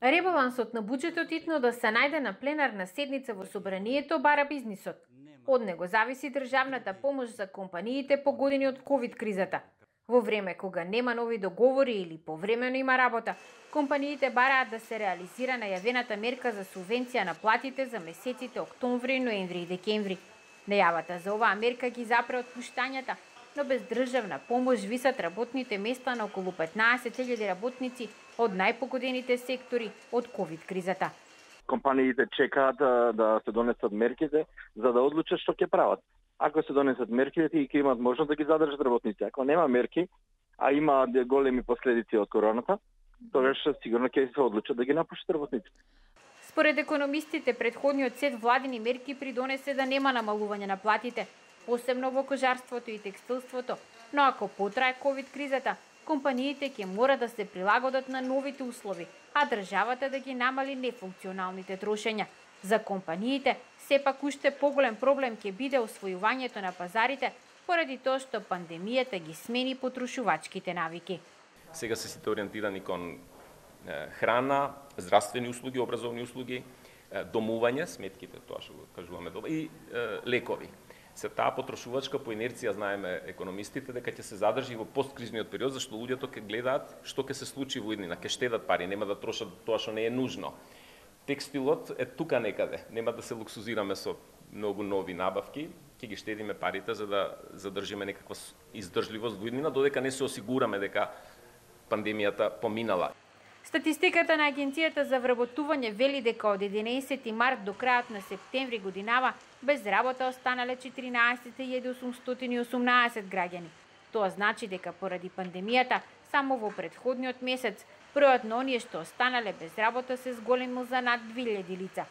Ребалансот на буџетот итно да се најде на пленарна седница во собранието бара бизнисот. Од него зависи државната помош за компаниите погодени од ковид кризата. Во време кога нема нови договори или повремено има работа, компаниите бараат да се реализира најавената мерка за субвенција на платите за месеците октомври, ноември и декември. Најавата за оваа мерка ги запре отпуштањата, но без државна помош висат работните места на околу 15.000 работници од најпогодените сектори од ковид кризата. Компаниите чекаат да се донесат мерките за да одлучат што ќе прават. Ако се донесат мерките, тие ќе имаат можност да ги задржат работници. Ако нема мерки, а има големи последици од короната, тогаш сигурно ќе се одлучат да ги напуштат работниците. Според економистите, предходниот сет владини мерки придонесе да нема намалување на платите, посебно во кожарството и текстилството, но ако потрае ковид кризата, компаниите ќе мора да се прилагодат на новите услови, а државата да ги намали нефункционалните трошења. За компаниите, сепак уште поголем проблем ќе биде освојувањето на пазарите, поради тоа што пандемијата ги смени потрошувачките навики. Сега се сите ориентирани кон храна, здравствени услуги, образовни услуги, домување, сметките, тоа што го кажуваме, и лекови. Се таа потрошувачка по инерција знаеме економистите дека ќе се задржи во посткризниот период, зашто луѓето ќе гледаат што ќе се случи во иднина, ќе штедат пари, нема да трошат тоа што не е нужно. Текстилот е тука некаде, нема да се луксузираме со многу нови набавки, ќе ги штедиме парите за да задржиме некаква издржливост во иднина, додека не се осигураме дека пандемијата поминала. Статистиката на Агенцијата за вработување вели дека од 11 март до крајот на септември годинава без работа останале 14.818 граѓани. Тоа значи дека поради пандемијата само во претходниот месец бројот на оние што останале без работа се зголемил за над 2000 лица.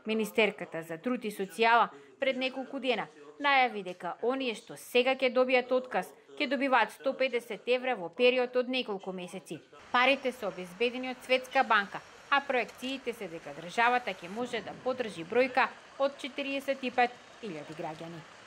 Министерката за труд и социјала пред неколку дена најави дека оние што сега ќе добијат отказ ќе добиваат 150 евра во период од неколку месеци. Парите се обезбедени од Светска банка, а проекциите се дека државата ќе може да поддржи бројка од 45.000 граѓани.